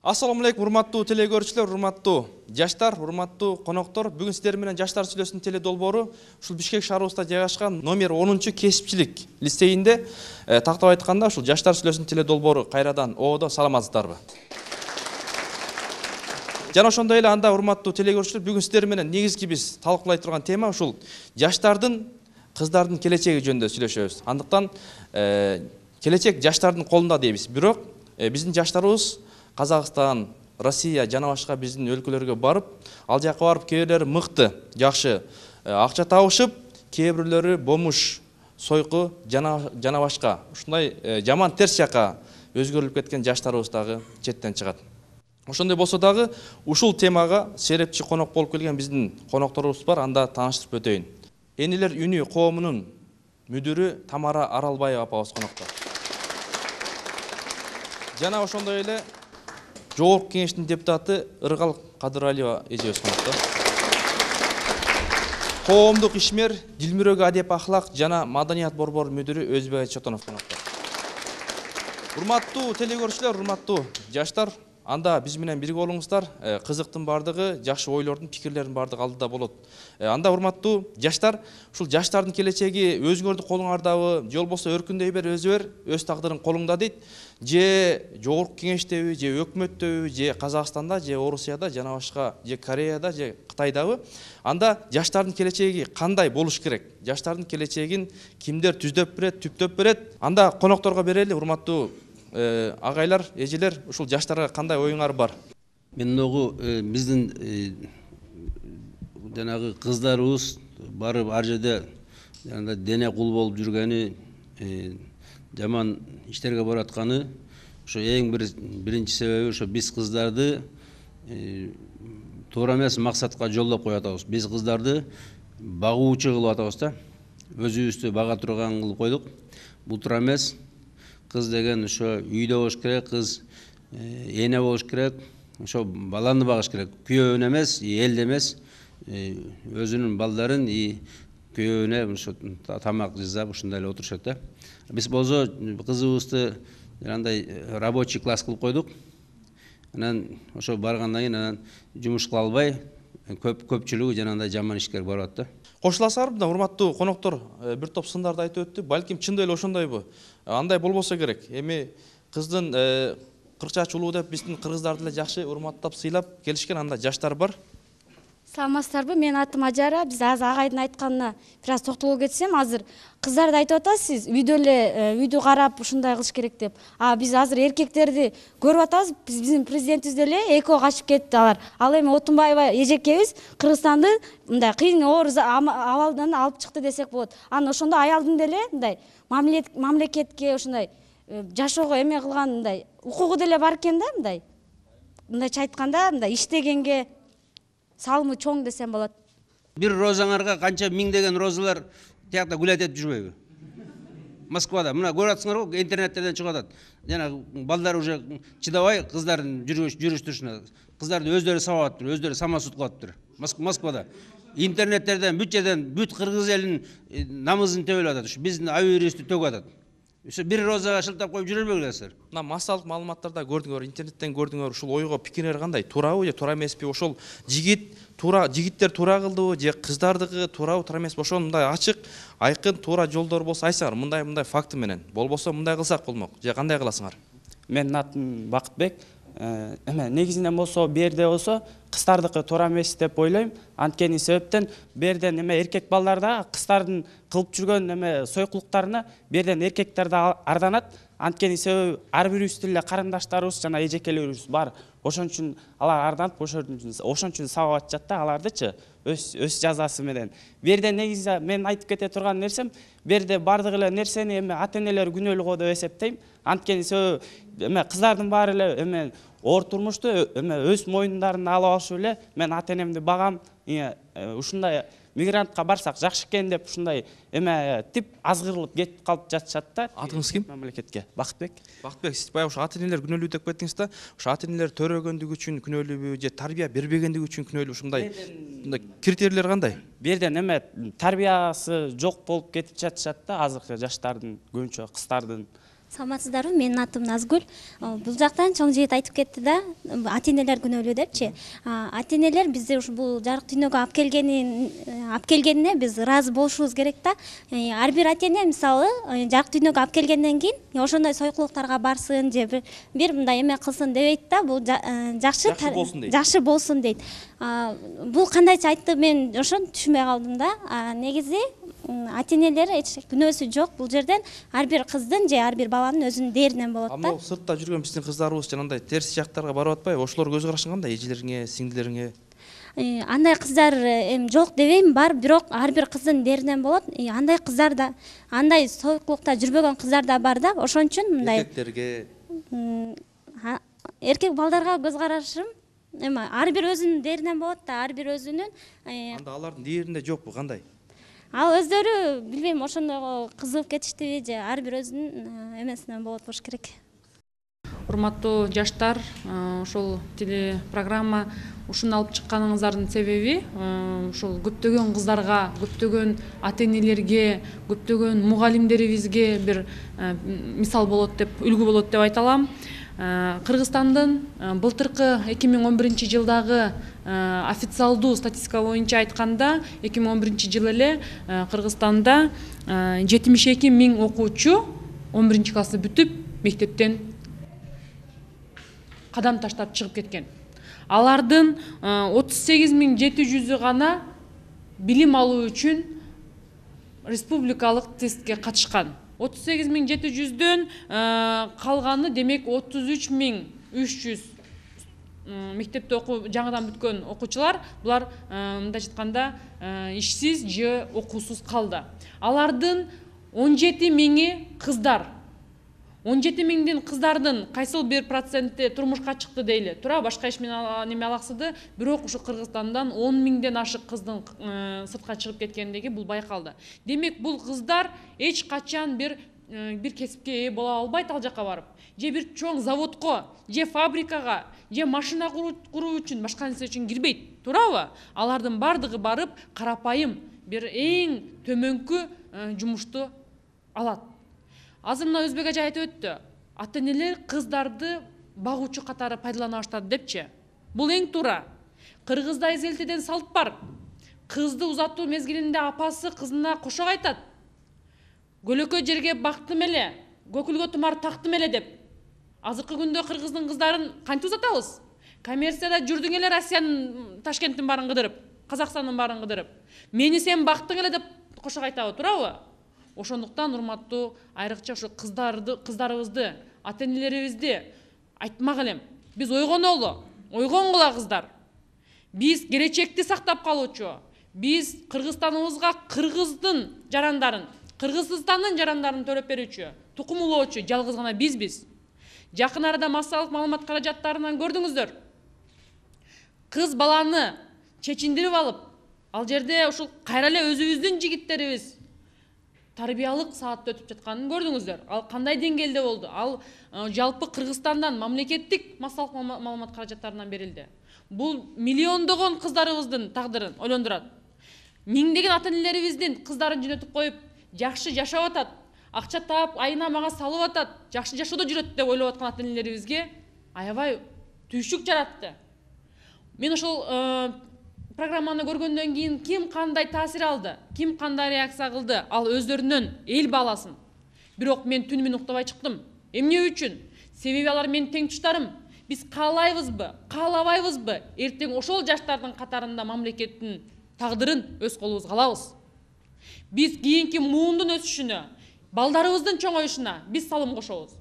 Assalamu alaikum, урматтуу телекөрүүчүлөр, урматтуу жаштар, урматтуу коноктор. Бүгүн сиздер менен Жаштар сүйлөсүн теле долбоору ушул Бишкек шаарыбызда жайгашкан номер 10 кесипчилик лицейинде тактап айтканда ушул Жаштар сүйлөсүн теле долбоору кайрадан оодо. Саламатсыздарбы? Жана ошондой эле анда урматтуу телекөрүүчүлөр, бүгүн сиздер менен негизги биз талкуулай турган тема ушул жаштардын, кыздардын келечеги жөнүндө сүйлөшөбүз. Андыктан келечек жаштардын колунда дейбиз. Бирок биздин жаштарыбыз Казакстан, Россия жана башка биздин өлкөлөргө барып, ал жака барып кээ бирлери мыкты, жакшы акча табышып, кээ бирлери бомуш, сойку жана башка ушундай жаман терс жака өзгөрүлүп кеткен жаштарыбыз дагы четтен чыгат. Ошондой болсо дагы ушул темага серепчи конок болуп келген биздин конокторубуз бар, анда тааныштырып өтөйүн. Энилер үнү коомунун мүдүрү Тамара Аралбаева апабыз конокто. Жана ошондой эле Жогорку кеңештин депутаты Ыргал Кадыралиева эжебиз конокто. Коомдук ишмер Дилмүрөгө адеп ахлак жана маданият борбор мүдүрү Өзбек Чотонов конокто. Урматтуу телекөрүүчүлөр, урматтуу жаштар, анда биз менен бирге болуңуздар. Кызыктын бардыгы, жакшы ойлордун, пикирлердин бардыгы алдыда болот. Анда урматтуу жаштар, ушул жаштардын келечеги өзүңөрдүн колуңардабы, же болбосо өркүндөй бер, өз тагдырың колуңда дейт. Же Жогорку кеңештеби, же өкмөттөбү, же Казакстанда, же Орусияда, жана башка, же Кореяда, же Кытайдабы. Анда жаштардын келечеги кандай болуш керек? Жаштардын келечегин кимдер түздөп берет, түптөп берет? Анда конокторго берели, урматтуу агайлар, эжелер, ушул жаштарга кандай оюңар бар? Мен догу биздин жанагы кыздарыбыз барып ар жерде жанагы дене кул болуп жүргөнү, жаман иштерге баратканы, ошо эң биринчи себеби ошо биз кыздарды туура эмес максатка жолдоп коюп атабыз. Биз кыздарды багуучу кылып атабыз да. Өзүбүздү бага турган кылып койдук. Бул туура эмес. Кыз деген ошо үйдө болуш керек, кыз эне болуш керек, ошо баланы багыш керек. Күйөөнө эмес, элде эмес, өзүнүн балдарын күйөөнө ошо тамак жасап ушундай эле отурушат да. Биз болсо кызыбызды андай рабочий класс кылып койдук. Анан ошо баргандан кийин анан жумуш кыла албай, көпчүлүгү жанагындай жаман ишке барат да. Кошуласызарбы да, урматтуу коноктор, бир топ сындарды айтып өттү. Балким чындап эле ошондойбу? Андай болбосо керек. Эми кыздын 40 жаш улуу деп биздин кыргыздарды эле жакшы урматтап, сыйлап келишкен анда жаштар бар. Саламатсыздарбы? Менин атым Ажара. Биз азыр агайдын айтканына бир аз токтоло кетсем, азыр кыздарды айтып атасыз, үйдө эле үйдү карап ушундай кылыш керек деп. Биз азыр эркектерди көрүп атабыз. Биздин президентибиз деле экөө качып кетти алар. Ал эми Отунбаева эжекебиз Кыргызстанды мындай кыйын оор абалдан алып чыкты десек болот. Анан ошондо аялдын деле мындай мамлекетке ушундай жашоого эме кылган мындай укугу деле бар экен да, мындайча айтканда, мындай иштегенге салымы чоң десем болот. Бир розаңарга канча миңдеген розалар тиякта гүл этип жүрбөйбү? Москвада. Мына көрүп атсыңарбы, интернеттерден чыгып атат. Жана балдар уже чыдабай кыздардын жүрүш-турушуна. Кыздарды өздөрү сабап атыптыр, өздөрү самосуд кылып атыптыр. Москвада. Интернеттерден, бүт жерден, бүт кыргыз элинин намысын төбөлүп атат. Ушу биздин авиабирибизди төгүп атат. Ушу бир розага шылтап коюп жүрө бербеңиздер. Мына массалык маалыматтарда көрдүңөр, интернеттен көрдүңөр, ушул ойго пикирлер кандай? Туурабы же туура эмеспи? Ошол жигиттер туура кылдыбы же кыздардыгы туурабы, туура эмеспи? Ошону мындай ачык, айкын, туура жолдор болсо айтсаңар, мындай факты менен. Болбосо мындай кылсак болмок. Же кандай кыласыңар? Менин атым Бакытбек. Негизинен болсо, берде болсо кыздардыкы туура эмес деп ойлойм. Анткени себептен берден эркек балдарда кыздардын кылып жүргөн сойкулуктарына берден эркектер да арданат. Анткени себеби ар бирибиздин эле карындаштарыбыз жана эжекелерибиз бар. Ошон үчүн алар арданып, ошон үчүн сабап атышат да алардычы өз жазасы менен. Берде негизи мен айтып кете турган нерсем, берде бардык эле нерсени ата-энелер күнөөлүү деп эсептейм. Анткени себеби кыздардын баары эле оор турмушту өз мойнундарына алып алышып эле мен ата-энемди багам, ушундай мигрантка барсак жакшы экен деп ушундай тип азгырылып кетип калып жатышат да. Атыңыз ким? Мамлекетке. Бакытбек. Бакытбек, сиз баягы ушу ата-энелер күнөөлүү деп кеттиңиз да. Ушу ата-энелер төрөгөндүгү үчүн күнөөлүүбү же тарбия бербегендиги үчүн күнөөлүү? Ушундай критерийлер кандай? Берден тарбиясы жок болуп кетип жатышат да азыркы жаштардын, көбүнчө кыздардын. Саламатсыздарбы? Менин атым Назгүл. Бул жактан чоң жигит айтып кетти да, ата-энелер күнөөлүү депчи. Ата-энелер бизди ушу бул жарык дүйнөгө алып келгенине биз ыраазы болушубуз керек да. Ар бир ата-эне мисалы жарык дүйнөгө алып келгенден кийин ошондой сойкулуктарга барсын же бир мындай эме кылсын дебейт да. Бул жакшы болсун дейт. Бул кандайча айтты, мен ошону түшүнбөй калдым да. Негизи ата-энелер эч күнөөсү жок. Бул жерден ар бир кыздын же ар бир баланын өзүнүн дээринен болот да. Амма сыртта жүргөн биздин кыздарыбыз жанагындай терс жактарга барып атпайбы? Ошолор көз карашың кандай? Эжелериңе, сиңдилериңе? Андай кыздар эми жок дебейм, бар, бирок ар бир кыздын дээринен болот. Андай кыздар да, андай сойкулукта жүрбөгөн кыздар да бар да. Ошон үчүн мындай эркектерге, эркек балдарга көз карашым эми ар бир өзүнүн дээринен болот да, ар бир өзүнүн. Анда алардын дээринде жокпу, кандай? Ал өздөрү билбейм, ошондойго кызыгып кетиштиби же ар бир өзүнүн эмесинен болот болуш керек. Урматтуу жаштар, ушул телепрограмма ушуну алып чыкканыңыздардын себеби ушул көптөгөн кыздарга, көптөгөн ата-энелерге, көптөгөн мугалимдерибизге бир мисал болот деп, үлгү болот деп айта алам. Кыргызстандын былтыркы 2011-жылдагы официалдуу статистика боюнча айтканда 2011-жылы эле Кыргызстанда 72 миң окуучу 11-классты бүтүп мектептен кадам таштап чыгып кеткен. Алардын 38.700-ü гана билим алуу үчүн республикалык тестке катышкан. 38.700-дөн калганы демек 33.300 мектепте жаңыдан бүткөн окуучулар, булар мындайча айтканда ишсиз же окуусуз калды. Алардын 17 миңи кыздар. 17 миңдин кыздардын кайсыл бир проценти турмушка чыкты дейли. Туура, башка иш менен неме алаксыды, бирок ушу Кыргызстандан 10 миңден ашык кыздын сыртка чыгып кеткендиги бул байкалды. Демек бул кыздар эч качан бир кесипке ээ боло албайт ал жака барып. Же бир чоң заводко, же фабрикага, же машина куруу үчүн, башка нерсе үчүн кирбейт. Туурабы? Алардын бардыгы барып карапайым бир эң төмөнкү жумушту алат. Азыр мына Өзбек ажа айтып өттү. Ата-энелер кыздарды багуучу катары пайдалана баштады депчи. Бул эң туура. Кыргызда эзелтеден салт бар. Кызды узатуу мезгилинде апасы кызына кошок айтат. Көлөкө жерге бактым эле, көкүлгө тумар тактым эле деп. Азыркы күндө кыргыздын кыздарын кантип узатабыз? Коммерцияда жүрдүң эле Россиянын, Ташкенттин баарын кыдырып, Казакстандын баарын кыдырып. Мени сен бактың эле деп кошок айтабы, туурабы? Ошондуктан урматтуу айрыкча ушу кыздарыбызды, ата-энелерибизди айтмак элем. Биз ойгонолу, ойгонгула кыздар. Биз келечекти сактап калуучу, биз Кыргызстаныбызга кыргыздын жарандарын, Кыргызстандын жарандарын төлөп берүүчү, тукум улоочу жалгыз гана бизбиз. Жакын арада массалык маалымат каражаттарынан көрдүңүздөр. Кыз баланы чечиндирип алып, ал жерде ушул кайра эле өзүбүздүн жигиттерибиз тарбиялык саатта өтүп жатканын көрдүңүздөр. Ал кандай деңгээлде болду? Ал жалпы Кыргызстандан мамлекеттик массалык маалымат каражаттарынан берилди. Бул миллиондогон кыздарыбыздын тагдырын ойлондурат. Миңдеген ата-энелерибиздин кыздарын жөнөтүп коюп, жакшы жашап атат, акча таап, айына мага салып атат, жакшы жашоодо жүрөт деп ойлоп аткан ата-энелерибизге аябай түйшүк жаратты. Мен ошол программаны көргөндөн кийин ким кандай таасир алды, ким кандай реакция кылды, ал өздөрүнөн эл бааласын. Бирок мен түн менен уктабай чыктым. Эмне үчүн? Себеби алар менин теңтуштарым. Биз каалайбызбы, каалабайбызбы, эртең ошол жаштардын катарында мамлекеттин тагдырын өз колубузга алабыз. Биз кийинки муундун өсүшүнө, балдарыбыздын чоңоюшуна биз салым кошобуз.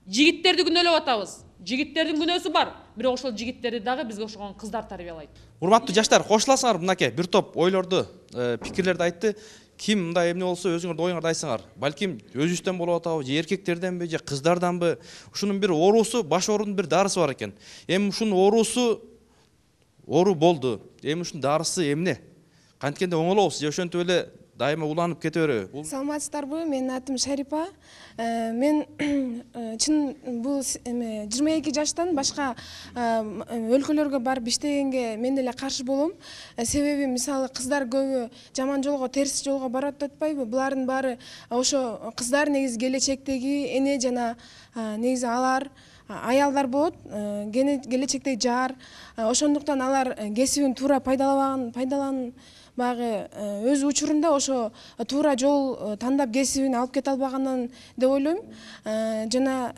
Жигиттерди күнөөлөп атабыз. Жигиттердин күнөөсү бар, бирок ошол жигиттерди дагы бизге окшогон кыздар тарбиялайт. Урматтуу жаштар, кошуласыңар мынакей бир топ ойлорду, пикирлерди айтты. Ким мындай эмне болсо өзүңөрдүн оюңарды айтсаңар. Балким өзүбүздөн болуп атабы, же эркектерденби, же кыздарданбы? Ушунун бир оорусу, баш оорунун бир дарысы бар экен. Эми ушунун оорусу оору болду. Эми ушунун дарысы эмне? Канткенде оңолобуз же ошентип эле дайыма уланып кете береби? Саламатсыздарбы? Менин атым Шарипа. Мен чын бул 22 жаштан башка өлкөлөргө барып иштегенге мен деле каршы болом. Себеби мисалы кыздар көбү жаман жолго, терс жолго барат деп атпайбы? Булардын баары ошо кыздар негизи келечектеги эне жана негизи алар аялдар болот, келечектеги жар. Ошондуктан алар кесибин туура пайдаланбагы өз учурунда ошо туура жол тандап кесибин алып кете албагандан деп ойлойм. Жана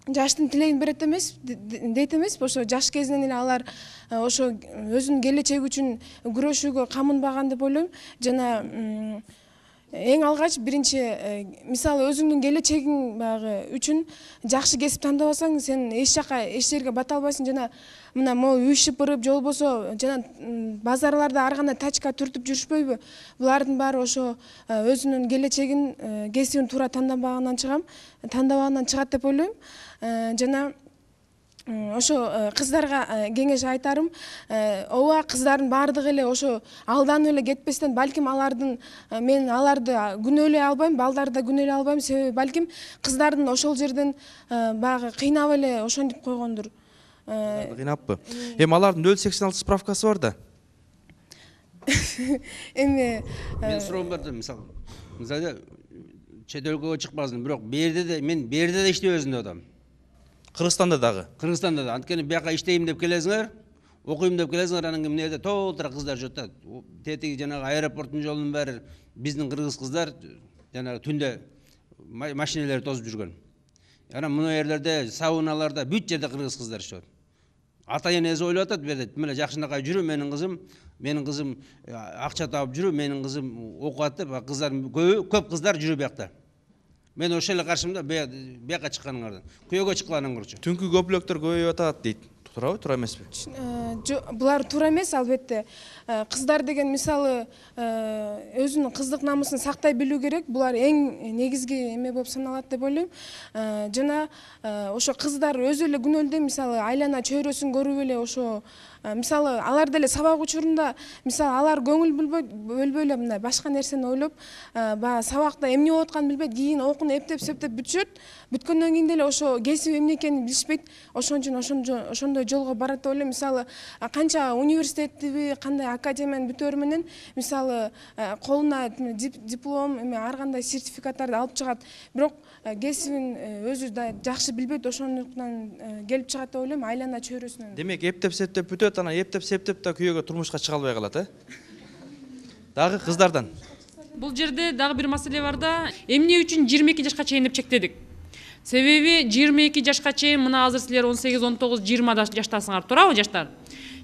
жаштын тилегин берет эмес, дейт эмеспи? Ошо жаш кезинен эле алар ошо өзүнүн келечеги үчүн күрөшүүгө камынбаган деп ойлойм. Жана эң алгач биринчи мисалы өзүңдүн келечегиң баягы үчүн жакшы кесип тандабасаң сен эч жака эч жерге бата албайсың. Жана мына могу үй шыпырып же болбосо жана базарларда ар кандай тачка түртүп жүрүшпөйбү? Булардын баары ошо өзүнүн келечегин, кесибин туура тандабагандан чыгат деп ойлойм. Жана ошо кыздарга кеңеш айтарым, ооба кыздардын баардыгы эле ошо алданып эле кетпестен, балким мен аларды күнөөлөй албайм, балдарды да күнөөлөй албайм. Себеби балким кыздардын ошол жерден баягы кыйнап эле ошентип койгондур. Кыйнаппы? Эми алардын 086 справкасы бар да. Эми мен суроом бар да, мисалы чет өлкөгө чыкпасын, бирок мен берде да иштебесин деп атам. Кыргызстанда дагы. Кыргызстанда да. Анткени бияка иштейм деп келесиңер, окуйм деп келесиңер, анан кийин эмне толтура кыздар жүрөт да. Тетиги жанагы аэропорттун жолунун баары биздин кыргыз кыздар жанагы түндө машиналар тосуп жүргөн. Анан мына жерлерде, сауналарда бүт жерде кыргыз кыздар иштеп атат. Ата-энеси ойлоп атат, берде мына жакшынакай жүрү, менин кызым акча таап жүрү, менин кызым окуат деп, кыздар көп кыздар жүрү биякта. Мен ошо эле каршымын да, бияка чыкканыңардан. Күйөөгө чыкканыңар көрчү. Түнкү көпүлөктөр көбөйүп атат дейт. Туурабы, туура эмеспи? Булар туура эмес, албетте. Кыздар деген мисалы өзүнүн кыздык намысын сактай билүү керек. Булар эң негизги эме болуп саналат деп ойлойм. Жана ошо кыздар өзү эле күнөөлдөй, мисалы айлана чөйрөсүн көрүп эле ошо мисалы алар деле сабак учурунда мисалы алар көңүл бөлбөй эле мындай башка нерсени ойлоп, баягы сабакта эмне болуп атканын билбейт, кийин окууну эптеп бүтүшөт. Бүткөндөн кийин деле ошо кесиби эмне экенин билишпейт. Ошон үчүн ошондой жолго барат деп ойлойм. Мисалы канча университеттиби, кандай академияны бүтөөр менен мисалы колуна диплом, ар кандай сертификаттарды алып чыгат. Бирок кесибин өзү да жакшы билбейт, ошондуктан келип чыгат деп ойлойм, айлана чөйрөсүнөн. Демек, эптеп-септеп бүтөт, анан эптеп-септеп да күйөөгө турмушка чыга албай калат, Дагы кыздардан. Бул жерде дагы бир маселе бар да, эмне үчүн 22 жашка чейин деп чектедик? Себеби 22 жашка чейин, мына азыр силер 18, 19, 20 жаштасыңар, туурабы жаштар?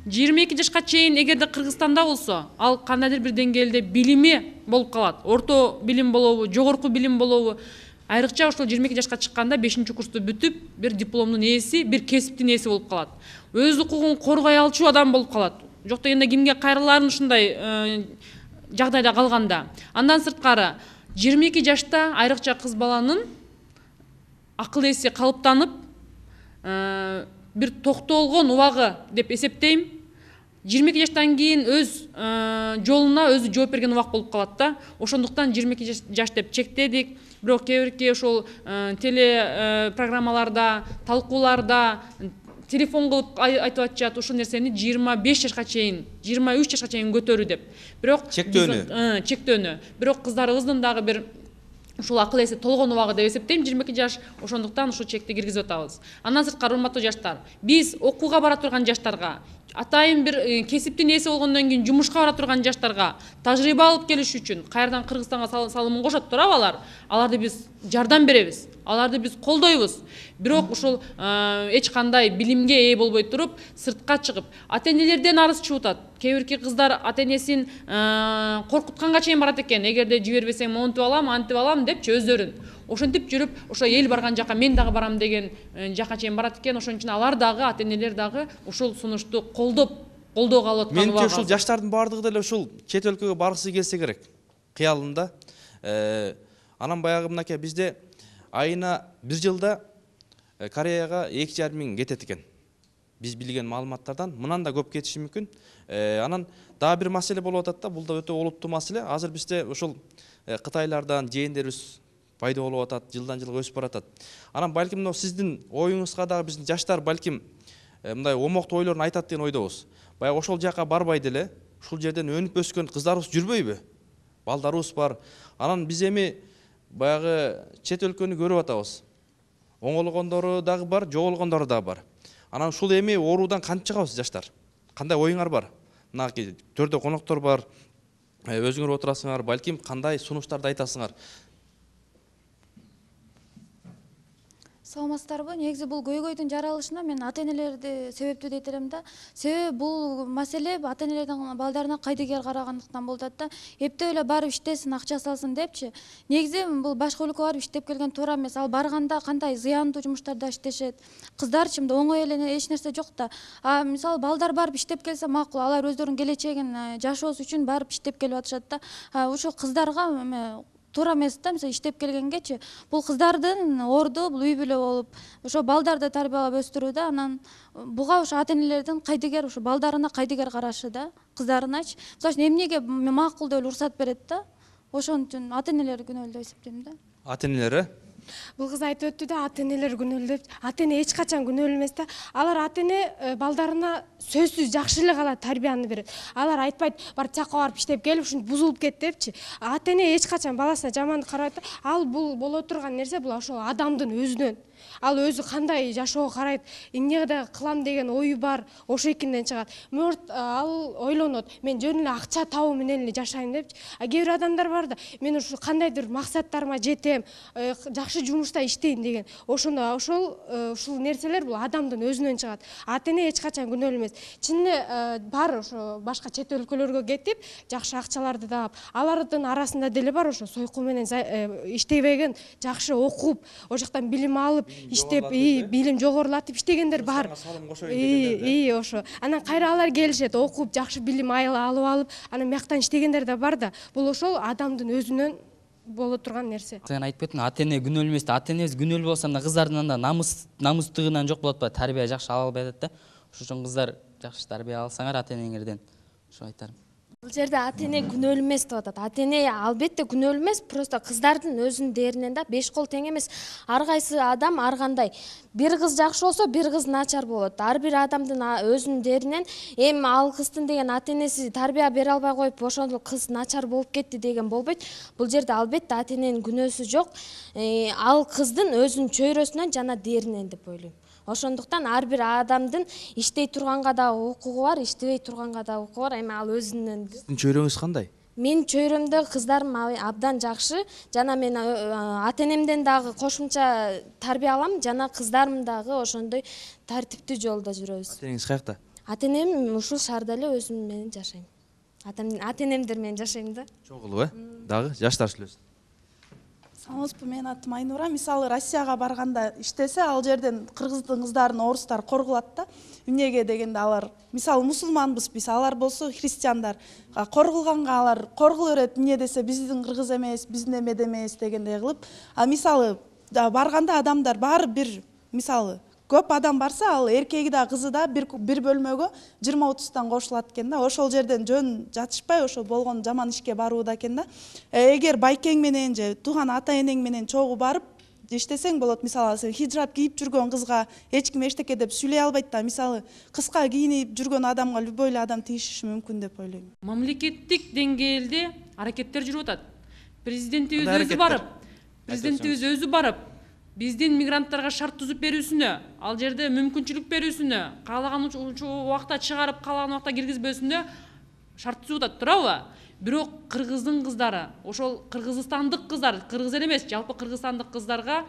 22 жашка чейин эгерде Кыргызстанда болсо, ал кандайдыр бир деңгээлде билими болуп калат. Орто билим болобу, жогорку билим болобу? Айрыкча ошол 22 жашка чыкканда 5-курсту бүтүп, бир дипломдун ээси, бир кесиптин ээси болуп калат. Өз укугун коргой алчу адам болуп калат. Жок дегенде кимге кайрылаарын ушундай жагдайда калганда. Андан сырткары 22 жашта айрыкча кыз баланын акыл эси калыптанып, бир токтолгон убагы деп эсептейм. 22 жаштан кийин өз жолуна өзү жооп берген убак болуп калат да. Ошондуктан 22 жаш деп чектедик. Бирок кээ ошол теле программаларда, талкууларда телефон кылып айтып атышат, ошол нерсени 25 жашка чейин, 23 жашка чейин көтөрүү деп. Бирок чектөөнү. Бирок кыздарыбыздын дагы бир ушул акыл эси толгон убагы деп эсептейм, 22 жаш. Ошондуктан ушул чекти киргизип атабыз. Андан сырткары, урматтуу жаштар, биз окууга бара турган жаштарга, атайын бир кесиптин ээси болгондон кийин жумушка бара турган жаштарга тажрыйба алып келиш үчүн кайрадан Кыргызстанга салымын кошот, туурабы алар? Аларды биз жардам беребиз, аларды биз колдойбуз. Бирок ушул эч кандай билимге ээ болбой туруп, сыртка чыгып, ата-энелерден арыз чыгып атат. Кээ бирки кыздар ата-энесин коркутканга чейин барат экен. Эгерде жибербесең монтип алам, антип алам депчи өздөрүн. Ошентип жүрүп, ошо эл барган жака мен дагы барам деген жака чейин барат экен. Ошон үчүн алар дагы, ата-энелер дагы ушул сунушту колдоого алып аткан. Менимче ушул жаштардын баардыгы деле ушул чет өлкөгө баргысы келсе керек. Кыялында. Анан баягы мынакей бизде айына 1 жылда Кореяга 2,5 миң кетет экен. биз билген маалыматтардан мындан да көп кетиши мүмкүн. Анан дагы бир маселе болуп атат да, бул да өтө олуттуу маселе. Азыр бизде ошол Кытайлардан жээндерибиз пайда болуп атат, жылдан жылга өсүп баратат. Анан балким мына сиздин оюңузга дагы биздин жаштар балким мындай омоктуу ойлорун айтат деген ойдобуз. Баягы ошол жака барбай деле ушул жерден өнүп өскөн кыздарыбыз жүрбөйбү? Балдарыбыз бар. Анан биз эми баягы чет өлкөнү көрүп атабыз. Оңолгондору дагы бар, жоголгондору дагы бар. Анан ушул эми оруудан кантип чыгабыз жаштар? Кандай оюңар бар? Мынакей төрдө коноктор бар. Өзүңөр отурасыңар, балким кандай сунуштарды айтасыңар? Саламатсыздарбы? Негизи бул көйгөйдүн жаралышына мен ата-энелерди себептүү дейт элем да. Себеби бул маселе ата-энелердин балдарына кайдыгер карагандыктан болуп атат да. Эптеп эле барып иштесин, акча салсын депчи. Негизи бул башка өлкөгө барып иштеп келген туура эмес. Ал барганда кандай зыяндуу жумуштарда иштешет. Кыздарчы мындай оңой эле эч нерсе жок да. Мисалы балдар барып иштеп келсе макул, алар өздөрүнүн келечегин жашоосу үчүн барып иштеп келип атышат да. Ошол кыздарга туура эмес да, мисалы иштеп келгенгечи. Бул кыздардын орду, бул үй бүлө болуп, ошо балдарды тарбиялап өстүрүү да. Анан буга ошо ата-энелердин кайдыгер, ошо балдарына кайдыгер карашы да, кыздарыначы. Мисалы үчүн эмнеге макул деп уруксат берет да. Ошон үчүн ата-энелер күнөөлүү деп эсептейм да. Ата-энелер Бул кыз айтып өттү да, ата-энелер күнөөлүү деп. Ата-эне эч качан күнөөлүү эмес да. Алар ата-эне балдарына сөзсүз жакшы эле кала тарбияны берет. Алар айтпайт, бар жакка барып иштеп келип, ушинтип бузулуп кет депчи. Ата-эне эч качан баласына жаман карабайт да. Ал бул боло турган нерсе, бул ошол адамдын өзүнөн. Ал өзү кандай жашоого карайт, эмне да кылам деген ою бар, ошо экинден чыгат. Мөрт ал ойлонот, мен жөн эле акча табуу менен эле жашайм депчи. Кээ бир адамдар бар да, мен ушу кандайдыр максаттарыма жетем, жакшы жумушта иштейм деген. Ошондо ушул нерселер бул адамдын өзүнөн чыгат. Ата-эне эч качан күнөөлүү эмес. Чын эле бар ошо башка чет өлкөлөргө кетип, жакшы акчаларды таап, алардын арасында деле бар ошо сойку менен иштебеген, жакшы окуп, ошол жактан билим алып, иштеп, билим жогорулатып иштегендер бар. Ошо. Анан кайра алар келишет, окуп, жакшы билим алып, анан бияктан иштегендер да бар да. Бул ошол адамдын өзүнөн боло турган нерсе. Сен айтып кеттиң, ата-эне күнөөлүү эмес да. Ата-энебиз күнөөлүү болсо анда кыздардын анда намустугунан жок болот ба? Тарбия жакшы ала албай атат да. Ошон үчүн кыздар жакшы тарбия алсаңар ата-энеңерден, ошо айтарым. Бул жерде ата-эне күнөөлүү эмес деп атат. Ата-эне албетте күнөөлүү эмес, просто кыздардын өзүнүн дээринен да 5 кол тең эмес. Ар кайсы адам ар кандай. Бир кыз жакшы болсо, бир кыз начар болот. Ар бир адамдын өзүнүн дээринен эми ал кыздын деген ата-энеси тарбия бере албай коюп, ошондо кыз начар болуп кетти деген болбойт. Бул жерде албетте ата-эненин күнөөсү жок. Ал кыздын өзүнүн чөйрөсүнөн жана дээринен деп ойлойм. Ошондуктан ар бир адамдын иштей турганга да укугу бар, иштебей турганга да укугу бар. Эми ал өзүнүн. Сиздин чөйрөңүз кандай? Менин чөйрөмдө кыздарым абдан жакшы. Жана мен ата-энемден дагы кошумча тарбия алам, жана кыздарым дагы ошондой тартиптүү жолдо жүрөбүз. Ата-энеңиз каякта? Ата-энем ушул шаарда эле өзүм менен жашайм. Ата-энемдер менен жашайм да. Чогулуп, Дагы жаштар сүйлөсүн. Саламатсызбы, мен атым Айнура. Мисалы Россияга барганда иштесе, ал жерден кыргыздын кыздарын орустар коргулат да. Эмнеге дегенде алар, мисалы мусулманбыз биз, алар болсо христиандар. Коргулганга алар коргула берет, эмне десе биздин кыргыз эмес, биздин эмеде эмес дегендей кылып. Мисалы барганда адамдар баары бир, мисалы көп адам барса, ал эркеги да кызы да бир бөлмөгө 20-30 кошулат экен да. Ошол жерден жөн жатышпай, ошо болгон жаман ишке барууда экен да. Эгер байкең менен же тууган ата-энең менен чогуу барып иштесең болот. Мисалы сен хиджаб кийип жүргөн кызга эч ким эчтеке деп сүйлөй албайт да. Мисалы кыска кийинип жүргөн адамга любой эле адам тийишиши мүмкүн деп ойлойм. Мамлекеттик деңгээлде аракеттер жүрүп атат. Президентибиз өзү барып, биздин мигранттарга шарт түзүп берүүсүнө, ал жерде мүмкүнчүлүк берүүсүнө, каалаган убакта чыгарып, каалаган убакта киргизбөөсүнө шарт түзүп атат, туурабы? Бирок кыргыздын кыздары, ошол кыргызстандык кыздар, кыргыз эле эмес, жалпы кыргызстандык кыздарга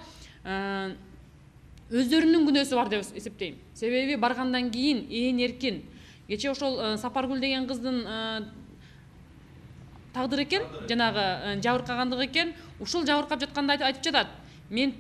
өздөрүнүн күнөөсү бар деп эсептейм. Себеби баргандан кийин ээн эркин. Кече ошол Сапаргүл деген кыздын тагдыры экен, жанагы жабыркагандыгы экен. Ушул жабыркап жатканда айтып жатат. Мен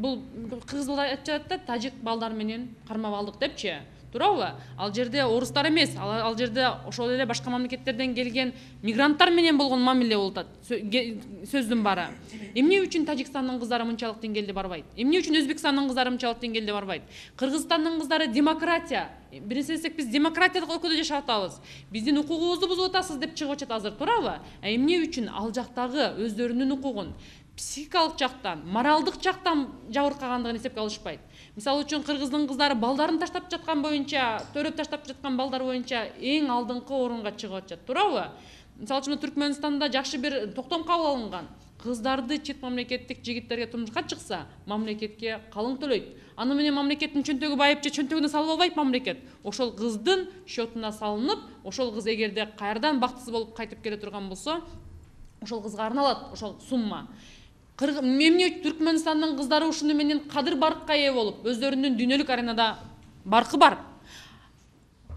бул кыргыз балдар айтып жатат да, тажик балдар менен кармап алдык депчи. туурабы? Ал жерде орустар эмес, ал жерде ошол эле башка мамлекеттерден келген мигранттар менен болгон мамиле болуп атат. Сөздүн баары. Эмне үчүн Тажикстандын кыздары мынчалык деңгээлде барбайт? Эмне үчүн Өзбекстандын кыздары мынчалык деңгээлде барбайт? Кыргызстандын кыздары демократия. Биринчи десек биз демократиялык өлкөдө жашап атабыз. Биздин укугубузду бузуп атасыз деп чыгып атат азыр, туурабы? Эмне үчүн ал жактагы өздөрүнүн укугун психикалык жактан, моралдык жактан жабыркагандыгын эсепке алышпайт. Мисалы үчүн кыргыздын кыздары балдарын таштап жаткан боюнча, төрөп таштап жаткан балдар боюнча эң алдыңкы орунга чыгып атышат, туурабы? Мисалы үчүн Түркмөнстанда жакшы бир токтом кабыл алынган. Кыздарды чет мамлекеттик жигиттерге турмушка чыкса, мамлекетке калың төлөйт. Аны менен мамлекеттин чөнтөгү байып же чөнтөгүнө салып албайт мамлекет. Ошол кыздын счетуна салынып, ошол кыз эгерде кайрадан бактысыз болуп кайтып келе турган болсо, ошол кызга арналат ошол сумма. Эмне Түркмөнстандын кыздары ушуну менен кадыр баркка ээ болуп, өздөрүнүн дүйнөлүк аренада баркы бар.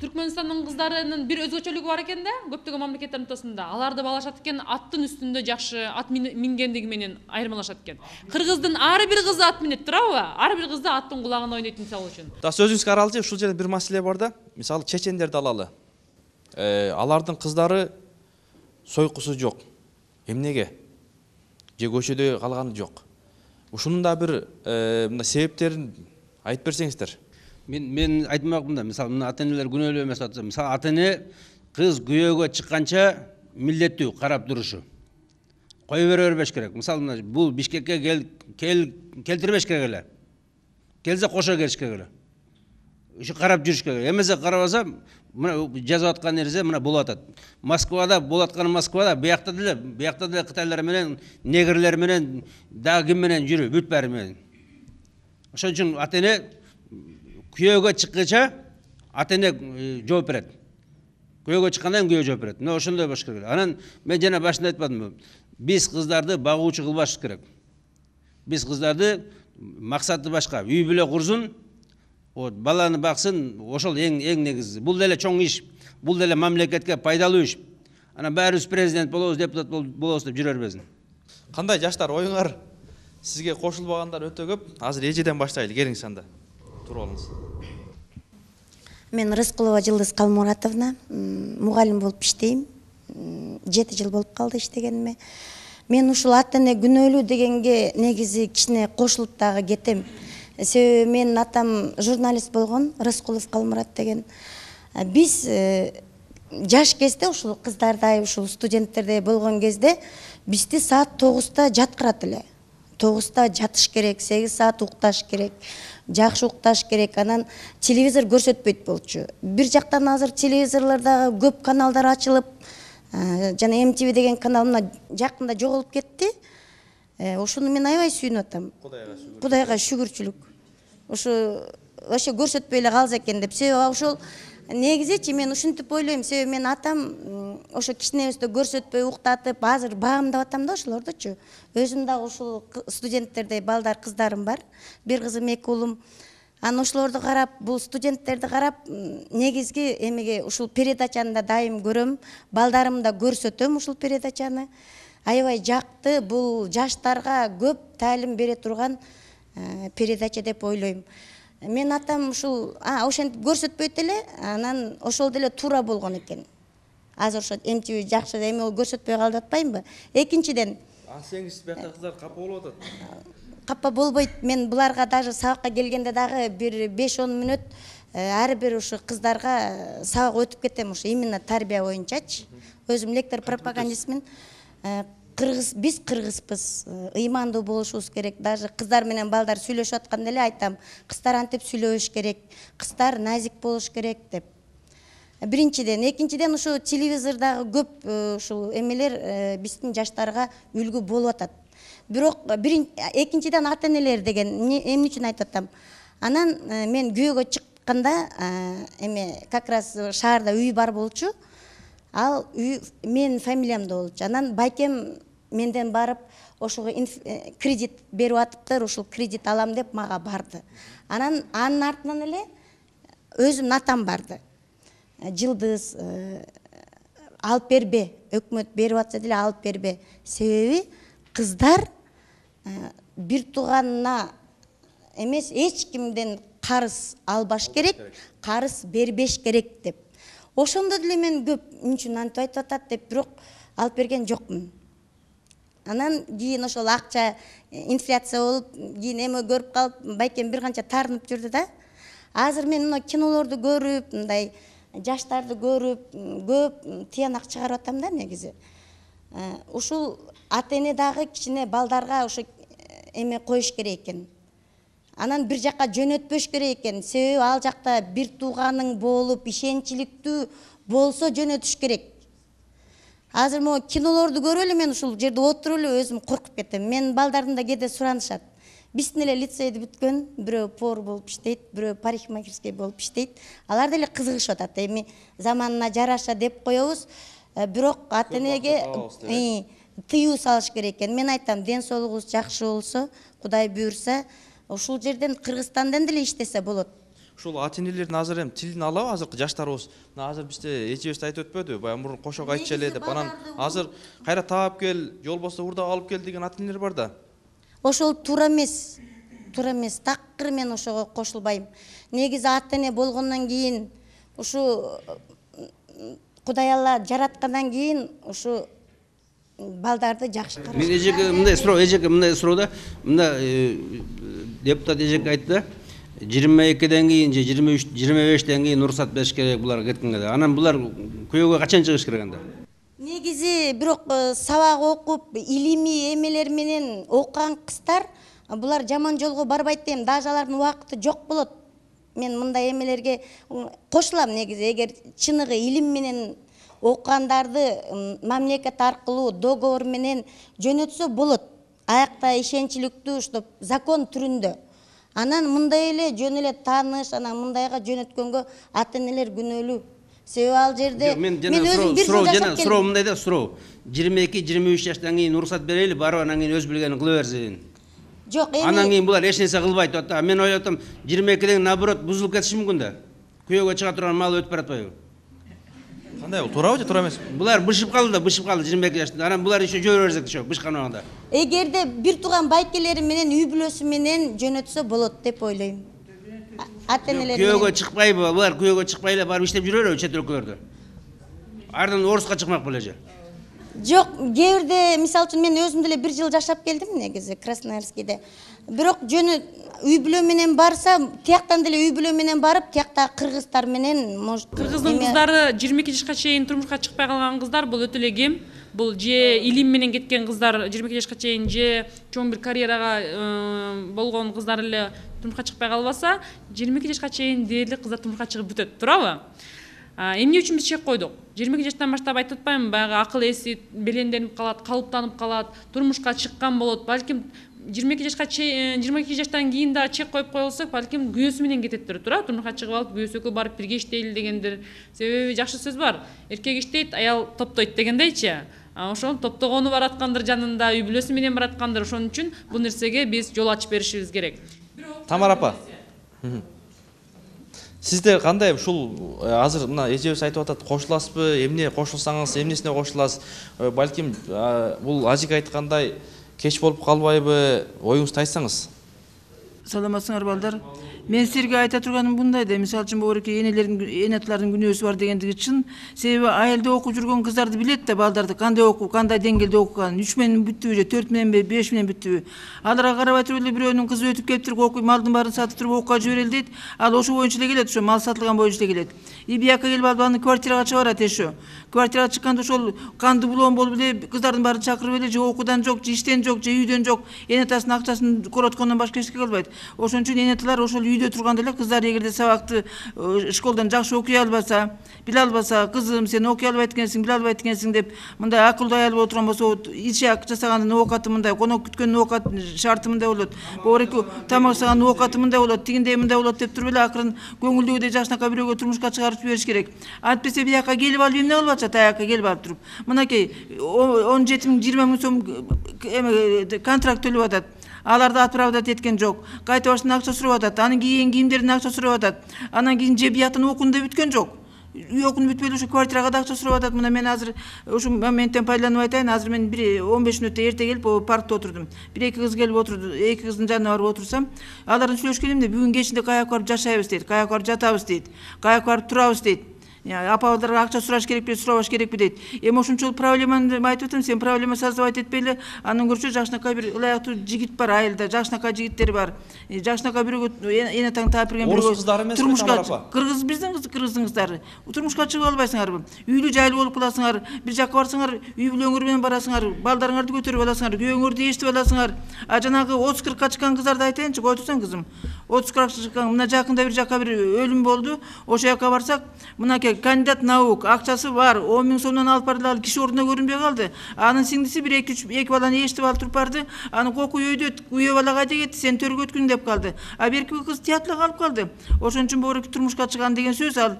Түркмөнстандын кыздарынын бир өзгөчөлүгү бар экен да, көптөгөн мамлекеттердин ортосунда. Аларды балашат экен, аттын үстүндө жакшы ат мингендиги менен айырмалашат экен. Кыргыздын ар бир кызы ат минет, туурабы? Ар бир кызды аттын кулагына ойнойт мисалы үчүн. Да сөзүңүзгө аралчы ушул жерде бир маселе бар да. Мисалы чечендерди алалы. Алардын кыздары сойкусу жок. Эмнеге? Же көчөдө калганы жок. Ушунун да бир мына себептерин айтып берсеңиздер. Мен айтмакмын да, мисалы мына ата-энелер күнөөлүү эмес атса, мисалы ата-эне кыз күйөөгө чыкканча милдеттүү карап турушу. Кое бербеш керек. Мисалы мына бул Бишкекке келтирбеш керек эле. Келсе кошо келиш керек эле. Ушу карап жүрүш керек. Эмесе карабаса, мына жазып аткан нерсе мына болуп атат. Москвада болуп атканы Москвада, биякта деле кытайлар менен, негрлер менен, дагы ким менен жүрүп, бүт баары менен. Ошон үчүн ата-эне күйөөгө чыккыча ата-эне жооп берет. Күйөөгө чыккандан күйөө жооп берет. Мына ошондой болуш керек. Анан мен жана башында айтпадымбы? Биз кыздарды багуучу кылбаш керек. Биз кыздарды максаты башка. Үй бүлө курсун, баланы баксын, ошол эң негизи. Бул деле чоң иш. Бул деле мамлекетке пайдалуу иш. Анан баарыбыз президент болобуз, депутат болобуз деп жүрө бербесин. Кандай жаштар оюңар? Сизге кошулбагандар өтө көп. Азыр эжеден баштайлы. Келиңиз анда. Туруп алыңыз. Мен Рыскулова Жылдыз Калмуратовна, мугалим болуп иштейм. 7 жыл болуп калды иштегениме. Мен ушул ата-эне күнөөлүү дегенге негизи кичине кошулуп дагы кетем. Себеби менин атам журналист болгон, Рыскулов Калмурат деген. Биз жаш кезде ушул кыздардай, ушул студенттердей болгон кезде бизди саат 9-та жаткырат эле. 9-та жатыш керек, 8 саат укташ керек. Жакшы укташ керек, анан телевизор көрсөтпөйт болчу. Бир жактан азыр телевизорлордо көп каналдар ачылып, жана MTV деген канал мына жакында жоголуп кетти. Ошону мен аябай сүйүнүп атам. Кудайга шүгүрчүлүк. Ошо вообще көрсөтпөй эле калса экен деп. Себеби ошол негизичи мен ушинтип ойлойм. Себеби мен атам ошо кичинебизде көрсөтпөй уктатып, азыр багамдап атам да ошолордучу. Өзүм дагы ушул студенттердей балдар, кыздарым бар. Бир кызым, 2 уулум. Анан ошолорду карап, бул студенттерди карап, негизги эмеге ушул передачаны да дайым көрөм. Балдарым да көрсөтөм ушул передачаны. Аябай жакты, бул жаштарга көп таалим бере турган передача деп ойлойм. Мен атам ушул ошентип көрсөтпөйт эле, анан ошол деле туура болгон экен. Азыр ошо MTV жакшы эме көрсөтпөй калды деп атпаймынбы? Экинчиден, сеңиз биякта кыздар капа болуп атат. Капа болбойт. Мен буларга даже сабакка келгенде дагы бир 5-10 мүнөт ар бир ушу кыздарга сабак өтүп кетем, ушу именно тарбия боюнчачы. Өзүм лектор пропагандистмин. Биз кыргызбыз, ыймандуу болушубуз керек. Даже кыздар менен балдар сүйлөшүп атканда эле айтам, кыздар антип сүйлөбөш керек, кыздар назик болуш керек деп. Биринчиден, экинчиден ушу телевизордагы көп ушул эмелер биздин жаштарга үлгү болуп атат. Бирок экинчиден ата-энелер деген эмне үчүн айтып атам? Анан мен күйөөгө чыкканда как раз шаарда үй бар болчу. Ал үй менин фамилиямда болчу. Анан байкем менден барып, ошого кредит берип атыптыр, ушул кредит алам деп мага барды. Анан анын артынан эле өзүмдүн атам барды. Жылдыз алып бербе, өкмөт берип атса деле алып бербе. Себеби кыздар бир тууганына эмес эч кимден карыз албаш керек, карыз бербеш керек деп. Ошондо деле мен көп үчүн антип айтып атат деп, бирок алып берген жокмун. Анан кийин ошол акча инфляция болуп, кийин эме көрүп калып, байкем бир канча таарынып жүрдү да. Азыр мен мына кинолорду көрүп, мындай жаштарды көрүп, көп тыянак чыгарып атам да негизи. Ушул ата-эне дагы кичине балдарга ошо эме коюш керек экен. Анан бир жакка жөнөтпөш керек экен. Себеби ал жакта бир тууганың болуп, ишенчиликтүү болсо жөнөтүш керек. Азыр могу кинолорду көрүп эле мен ушул жерде отуруп эле өзүм коркуп кетем. Мен балдардын да кээде суранышат. Биздин эле лицейди бүткөн, бирөө повар болуп иштейт, бирөө парикмахерский болуп иштейт. Алар деле кызыгышып атат. Эми заманына жараша деп коебуз, бирок ата-энеге тыюу салыш керек экен. Мен айтам, ден соолугубуз жакшы болсо, Кудай буйрса, ушул жерден Кыргызстандан деле иштесе болот. Ушул ата-энелердин азыр эми тилин алабы азыркы жаштарыбыз? Азыр бизде эжебиз айтып өтпөдү, баягы мурун кошок айтчу эле деп. Анан азыр кайра таап кел, жол болсо урдап алып кел деген ата-энелер бар да. Ошол туура эмес. Туура эмес. Такыр мен ошого кошулбайм. Негизи ата-эне болгондон кийин, ушу Кудай Алла жараткандан кийин ушу балдарды жакшы караш. Мен эжеке мындай суроодо, мында депутат эжеке айтты. 22ден кийин же 23-25ден кийин уруксат бериш керек буларга кеткенге. Анан булар күйөөгө качан чыгыш керек анда? Негизи бирок сабак окуп, илимий эмелер менен окуган кыздар булар жаман жолго барбайт дейм. Даже алардын убакыты жок болот. Мен мындай эмелерге кошулам негизи. Эгер чыныгы илим менен окугандарды мамлекет аркылуу договор менен жөнөтсө болот. Аякта ишенчиликтүү уштап закон түрүндө. Анан мындай эле жөн эле тааныш, анан мындайга жөнөткөнгө ата-энелер күнөөлүү. Себеби ал жерде мен өзүм бир жыл жашап келдим. Суроо мындай да, суроо. 22-23 жаштан кийин уруксат берели, барып анан кийин өз билгенин кыла берсин. Жок, эми анан кийин булар эч нерсе кылбайт атат. Мен ойлоп атам, 22ден наоборот бузулуп кетиши мүмкүн да. Күйөөгө чыга турган мал өтүп баратпайбы? Кандай бул? Туурабы же туура эмеспи? Булар бышып калды 22 жаштан. Анан булар еще жөө берсек ошо бышкан убагында. Эгерде бир тууган байкелери менен үй бүлөсү менен жөнөтсө болот деп ойлойм. Ата-энелер күйөөгө чыкпайбы? Булар күйөөгө чыкпай эле барып иштеп жүрөбү чет өлкөлөрдө? Ардан орусқа чыкмак беле? Жок, кээ бирде мисалы үчүн мен өзүм деле бир жыл жашап келдим негизи Красноярскийде. Бирок жөнү үй бүлө менен барса, тияктан деле үй бүлө менен барып, тиякта кыргыздар менен может. Кыргыздын кыздары 22 жашка чейин турмушка чыкпай калган кыздар бул өтө эле кем. Бул же илим менен кеткен кыздар 22 жашка чейин же чоң бир карьерага болгон кыздар эле турмушка чыкпай калбаса, 22 жашка чейин дээрлик кыздар турмушка чыгып бүтөт, туурабы? Эмне үчүн биз чек койдук? 22 жаштан баштап айтып атпаймынбы, баягы акыл эси беленденип калат, калыптанып калат, турмушка чыккан болот. Балким 22 жаштан кийин да чек коюп коелсок, балким күйөөсү менен кететтир, туурабы? Турмушка чыгып алып, күйөөсү экөө барып бирге иштейли дегендер. Себеби жакшы сөз бар. Эркек иштейт, аял топтойт дегендейчи. Ошол топтогону бараткандыр жанында, үй бүлөсү менен бараткандыр. Ошон үчүн бул нерсеге биз жол ачып беришибиз керек. Тамара апа. Сизде кандай ушул азыр мына эжебиз айтып атат, кошуласызбы, эмне кошулсаңыз, эмнесине кошуласыз? Балким бул ажик айткандай кеч болуп калбайбы? Оюңузду айтсаңыз. Саламатсыңар балдар. Мен силерге айта турганым мындай да, мисалы үчүн богореке эне аталардын күнөөсү бар дегендиги чын. Себеби айылда окуп жүргөн кыздарды билет да, балдарды кандай окуп, кандай деңгээлде окуганын, 3 менен бүттүбү же 4 мененби, 5 менен бүттүбү. Аларга карабай туруп эле бирөөнүн кызы өтүп келиптир, окуй, малдын баарын сатып туруп окууга жиберели дейт. Ал ошо боюнча эле келет, ошо мал сатылган боюнча эле келет. И бияка келип алып аны квартирага чыгарат эшо. Квартирага чыкканда ошол канды булоон болуп эле кыздардын баарын чакырып эле же окуудан жок, же иштен жок, же үйдөн жок, эне атасынын акчасын короткондон башка эч нерсе кылбайт. Ошон үчүн эне аталар ошол үйдө турганда эле кыздар эгерде сабакты школдан жакшы окуй албаса, биле албаса, кызым сен окуй албайт экенсиң, биле албайт экенсиң деп мындай акылдуу аял боло турган болсо, ичак жасагандын оокаты мындай, конок күткөндүн оокат шарты мындай болот. Богореке тамак жасагандын оокаты мындай болот, тигиндей мындай болот деп туруп эле акырын көңүлдөгүдөй жакшынакай бирөөгө турмушка чыгарып жибериш керек. Антпесе бияка келип алып эмне болуп атат, аяка келип алып туруп. Мынакей 17 000 20 000 сом контракт төлөп атат. Аларды отправдать эткен жок. Кайта баштан акча сурап атат. Анын кийин кийимдердин акча сурап атат. Анан кийин же бияктан окуну да бүткөн жок. үй окуну бүтпөй эле ушу квартирага да акча сурап атат. Мына мен азыр ушу моменттен пайдаланып айтайын. Азыр мен 15 мүнөттө эрте келип паркта отурдум. 1-2 кыз келип отурду. 2 кыздын жанына барып отурсам, алардын сүйлөшкөнүмдө бүгүн кечинде каяка барып жашайбыз дейт, каяка барып жатабыз дейт, каяка барып турабыз дейт. Апаларга акча сураш керекпи, сурабаш керекпи дейт. Эми ошончолук проблеманы айтып атам, сен проблема создавать этпей эле, анын көрчү жакшынакай бир ылайыктуу жигит бар айылда, жакшынакай жигиттер бар. Жакшынакай бирөөгө эне таң таап берген бирөөгө. Орус кыздары эмеспи турмушка апа? кыргыз биздин кыргыздын кыздары. Турмушка чыгып албайсыңарбы? Үйлүү жайлуу болуп каласыңар, бир жакка барсаңар, үй бүлөңөр менен барасыңар, балдарыңарды көтөрүп аласыңар, күйөөңөрдү эшитип аласыңар. А жанагы 30-40 чыккан кыздарды айтайынчы, кой турсаң кызым. 30-40 чыккан, мына жакында бир жакка бир өлүм болду. Ошол жака барсак, мынакей кандидат наук, акчасы бар, 10 000 сомдон алып барды, ал киши ордуна көрүнбөй калды. Анын сиңдиси бир 2 баланы эшитип алып туруп барды. Аны кокуй өйдө күйөө бала кайда кетти, сен төргөткүн деп калды. А берки кыз театрга калып калды. Ошон үчүн богу турмушка чыган деген сөз, ал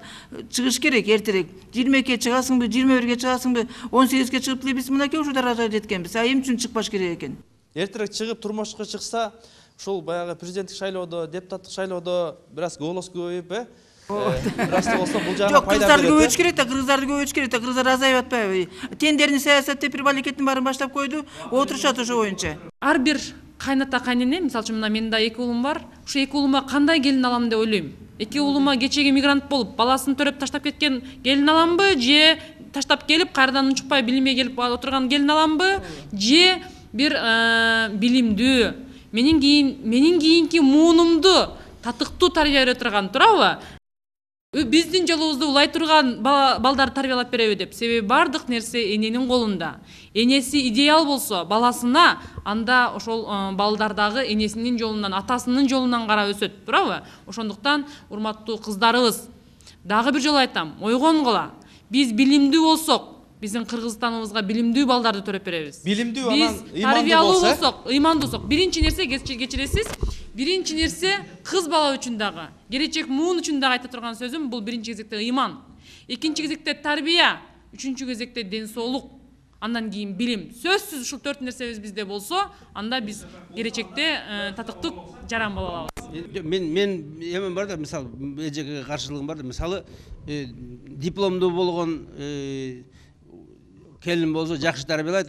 чыгыш керек эртерээк. 22-ге чыгасыңбы, 21-ге чыгасыңбы, 18-ге чыгып деле биз мынакей ушул даражага жеткенбиз. А эмне үчүн чыкпаш керек экен? Эртерээк чыгып турмушка чыкса, ушул баягы президенттик шайлоодо, депутаттык шайлоодо бир аз голос көбөйүп, бираз да болсо бул жагына пайда берет. Кыргыздарды көбөйтүш керек да, кыргыздарды көбөйтүш керек да, кыргыздар азайып атпайбы? Тендерный саясат деп бир балекеттин баарын баштап койду, отурушат ошо боюнча. Ар бир кайната кайнене, мисалы үчүн мына менин да 2 уулум бар. Ушу 2 уулума кандай келин алам деп ойлойм. 2 уулума кечеги мигрант болуп, баласын төрөп таштап кеткен келин аламбы, же таштап келип кайрадан унчукпай билимге келип отурган келин аламбы, же бир билимдүү, менин кийинки муунумду татыктуу тарбия бере турган, туурабы? Биздин жолубузду улай турган балдарды тарбиялап береби деп. Себеби бардык нерсе эненин колунда. Энеси идеал болсо баласына, анда ошол балдар дагы энесинин жолунан, атасынын жолунан карап өсөт, туурабы? Ошондуктан урматтуу кыздарыбыз, дагы бир жолу айтам, ойгонгула. Биз билимдүү болсок, биздин Кыргызстаныбызга билимдүү балдарды төрөп беребиз. Билимдүү анан имандуу тарбиялуу болсок, ыймандуу болсок, биринчи нерсе кечиресиз, биринчи нерсе кыз бала үчүн дагы, келечек муун үчүн дагы айта турган сөзүм, бул биринчи кезекте ыйман, экинчи кезекте тарбия, үчүнчү кезекте ден соолук, андан кийин билим. Сөзсүз ушул 4 нерсебиз бизде болсо, анда биз келечекте татыктуу жаран боло алабыз. Мен эмен бар да, мисалы эжеге каршылыгым бар да, мисалы дипломдуу болгон келин болсо жакшы тарбиялайт,